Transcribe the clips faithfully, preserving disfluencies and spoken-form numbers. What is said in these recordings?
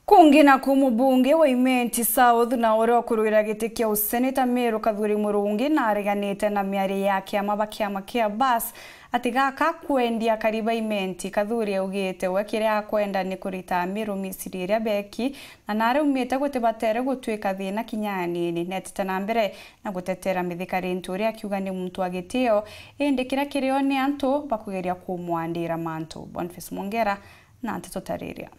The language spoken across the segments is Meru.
Kungi naku, mubunge wa Imenti South na uria ukurwira giti kia useneta Meru Kathuri Murungi nareganite na miario ya kiama ba kiama kia Bus ati gaka kwendia akari ba Imenti. Kathuri augite we kiria akwenda ni kurita Meru misiri iria beki na naraumite gutibatere gutwika thina kinya anini. Netite na mbere na gutetera Mithika Linturi akiuga ni muntu wa gitio, indi kiria kirio ni antu bakugeria kumwandira mantu. Boniface Mwongera na nteto tariria.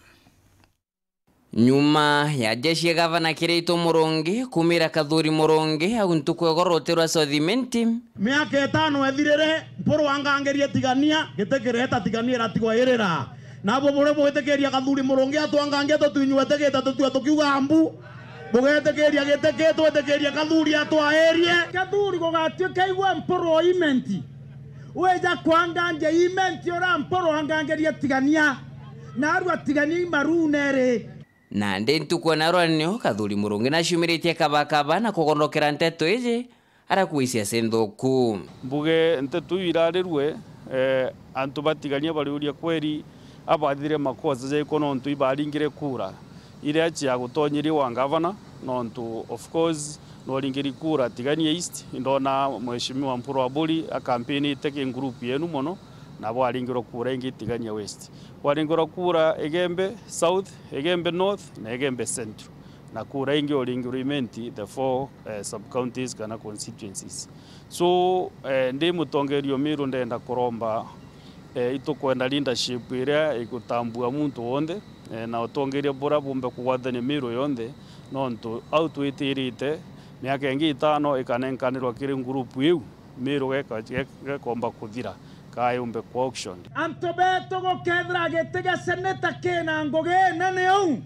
Nyuma ya jeshi ya gavana Kiraitu Murungi kumira Kathuri Murungi au ntuku ya ugoro ruti rwa South Imenti. Miaka itano ethirire, Mpuru angangirie Tigania, giti kireta Tigania iratigwa irira. Nabo buri bwitikiria Kathuri Murungi atwangangie tutwinywete gita tutue tukiuga mbu. Bugetikiria giti ki, twitikirie Kathuri atwaerie. Kathuri gugatuika igwe Mpuru o Imenti. Wija kwangangia Imenti uria Mpuru angangirie Tigania. Narua Tigania imarune ri. Nandi ntuku ya narua nio Kathuri Murungi naciumiritie kabakaba na kugondokera nteto iji, arakuisia nthuku. Mbuge nteto iu irarirue, eh, antu ba Tigania bariuria kweri abathire makosa jaiko nontu ibaringire kura iria cia gutonyeria wa ngavana, nontu of course noringiri kura Tigania East, indona Mheshimiwa Mpuru Aburi akampinite ki group yenu mono, na bwaringirwa kura ingi Tigania West. Bwaringirwa kura Igembe South, Igembe North na Igembe Central. Na kura ingi uringirwa Imenti, the four, eh, sub-counties kana constituencies. So, eh, ndi mutongeria o Meru ndenda kuromba, eh, itukwenda leadership iria igutambua muntu wonthe, eh, na utongeria buria bumbe kugwatania Meru yonthe, nontu au twitirite miaka ingi itano ikanenkanirwa kiri ngurupu iu, Meru geka-, ge-, gekomba kuthira, kaa yumbe ku auction. Antu betu gukethira giti gia seneta kina ngugi inene uu,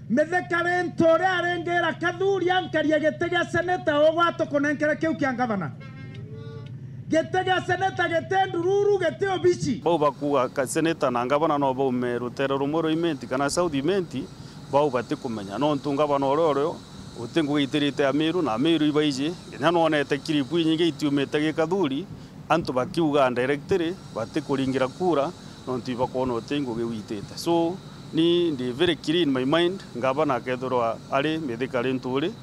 Mithika Linturi aringira Kathuri ankarie giti gia seneta ugwa tukunenkere kiu kia ngavana. Giti gia seneta giti ndururu, giti obici. Bau bakuuga ka seneta na ngavana no baume rutere rumwe rwa Imenti kana South Imenti, bau batikumenya. Nontu ngavana uria urio uti ngugi itirite Amiru, na Amiru ibaiji, kinya nwonete kiripu inyingi itiumite gi Kathuri, antu bakiuga directly batikuringira kura, nontu ibakwona uti ngugi witite. So, ni ndi very clear in my mind, ngavana akethirwa ari Mithika Linturi,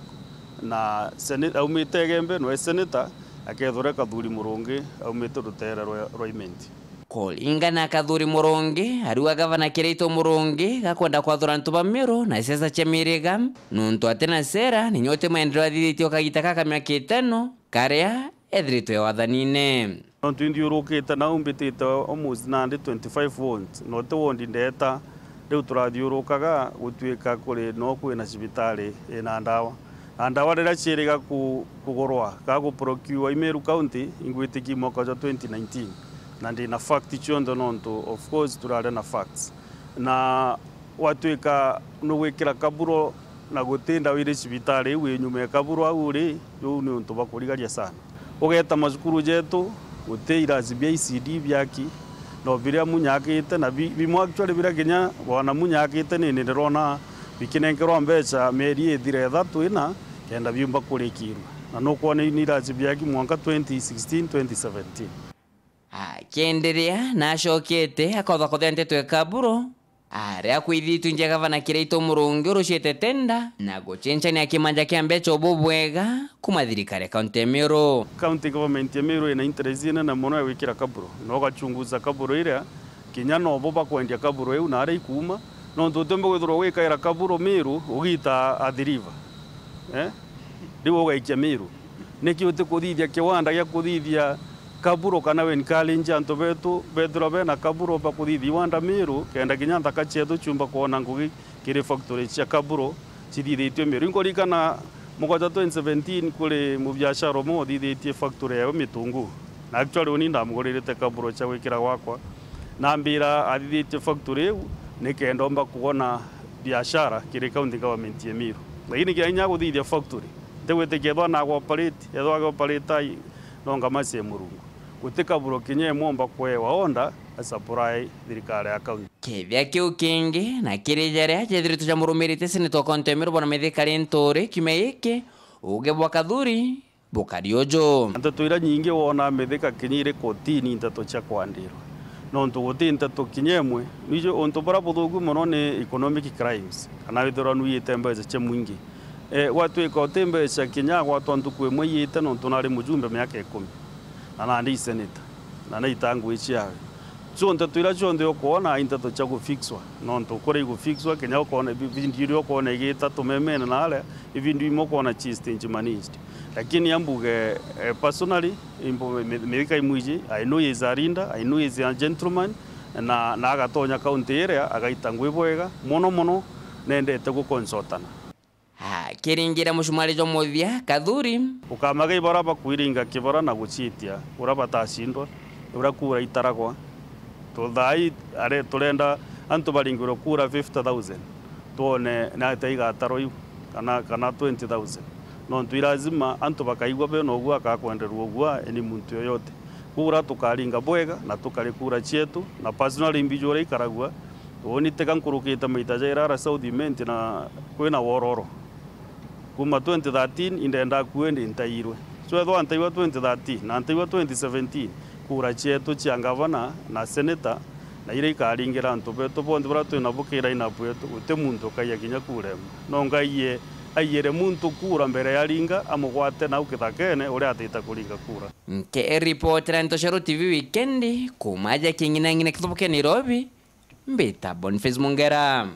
na sene-, aumite Igembe, nwe senator, akethirwa Kathuri Murungi, aumite rutere rwa, rwa Imenti. Kuringana na Kathuri Murungi, ariuga gavana Kiraitu Murungi gakwenda kwathura antu ba Meru na siasa cia miriga, nontu atina sera, ninya uti maendeleo athithitie o kagita gaka miaka itano, karia ethiritwe wathanine. Nontu inthiurukite nau mbitite almost nandi twenty-five wards, na uti ward ndeeta, riu turathiurukaga gutuika kuri no kwina cibitari ina ndawa. Na ndawa riria ciiriga ku-, kugurwa, kana guprocure i Meru County, ingwitikia mwaka jwa twenty nineteen, na ndina fact cionthe nontu, of course, turari na facts. Na gwatuika nugwikira kaburo na guti ndawa iri cibitari iu i nyuma ya kaburo au ri, riu ni untu bwa kurigaria sana. Ugeeta macukuru jetu, guti irasi bia E C D biaki, no biria munyakite, na bi-, bimwe actually biria kinya bwana munyakite ni, ni ndirona bikinenkerwa mbeca mieri ithire ithatu ina, kenda biumba kurikirua. Na nukwona iu ni irasi biaki mwanka twenty sixteen, twenty seventeen. Akienderea na acokete akotha kuthea nteto ya kaburo, aria kwithitwe nja gavana Kiraitu Murungi urucite tenda na gucenchania kimanja kia mbeca ubu bwega kuma thirikari ya kaunti ya Meru. County government ya Meru ina interest inene mono ya gwikira kaburo, na ugachunguza kaburo iria, kinya nobo bakwendia kaburo iu na aria ikuuma, nontu utiumba kwithirwa ugikaira kaburo Meru ugiita Athi River. Eh? Riu ugaikia Meru. Niki utikuthithia kiwanda gia kuthithia kaburo kana we encourage antu betu bethirwa bena kaburo bakuthithia iwanda Meru, kenda kinya nthaka cietu ciumba kwona ngugi kiri factory cia kaburo cithithitue Meru? Inkuririkana mwaka jwa twenty seventeen kuri mubiashara umwe uthithitie factory yawe Mitungu. Na actually uni ndamuguririte kaburo cia gwikira gwakwa. Na ambira athithitie factory iu nikenda omba kwona biashara kiri county government ya Meru. Lakini kinya inya guthithia factory, ntigwitikia ethwa na operate, ethwa agi operate ai, no ngamacie Murungu. Guti kaburo kinya imwe omba kwewa order a supply thirikari ya county. Kethia kiu kingi, na kiri jaria jethiritwe jamurumirite Seneta wa County ya Meru Bwana Mithika Linturi kiumia giki, uge bwa Kathuri bukari uju. Nteto iria nyingi wona Mithika kinya iri kotini, nteto cia kwandirwa. Nontu guti nteto kinya imwe. Nwiji untu buria buthuku mono ni economic crimes, kana withirwa nwiyite mbeca cia mwingi. Eh, gwatwika uti mbeca kinya gwatwa ntuku imwe iyite, nontu nari mujumbe miaka ikumi, na nandi i senator, na naita ngui ciawe. So nteto iria cionthe ukwona i nteto cia gufixwa, nontu kuria igufixwa, kinya ukwona ibi-, video iria ukwona igita tumemene na aria, i video imwe ukwona ci stage managed. Lakini ambuge, eh, personally, imbu-, mi-, Mithika Imwiji, I know he is a leader, I know he is a gentleman, na, na agatonya kaunti iria, agaita ngui bwega, mono mono, nendete gukonsortana. Akiringira mucumari jwa muthia, Kathuri. Ukamaga ibara bakwiringa kibara na gucitia, uria batacindwa, uria kura itaragwa. Tu thaai are-, turenda antu baringirwe kura fifty thousand, twone ni atia igatarwa iu, kana, kana twenty thousand. Nontu i lazima antu bakaigua bena ugua, akakwenderwa ugua, eni muntu yoyote. Kura tukaringa bwega na tukari kura cietu, na personally mbiju uria ikaragua, uuni tiga nkurukite maita jairi ara South Imenti na kwina wororo. Kuma twenty thirteen indenda kuendi ntairwe. So ethwa ntaiwa twenty thirteen na ntaiwa twenty seventeen, kura cietu cia ngavana na senator na iria ikaringira antu betu bonthe baria twina bo ki line up yetu, guti muntu ukaiya kinya kura imwe. No Ngai ye aiyire muntu kura mbere ya aringa, amugwate nau kithakene uria atita kuringa kura. Nkiripotera Ntoshero T V wikendi, kuma aja King'inang'ina Kithubuke Nairobi, mbita Boniface Mungera.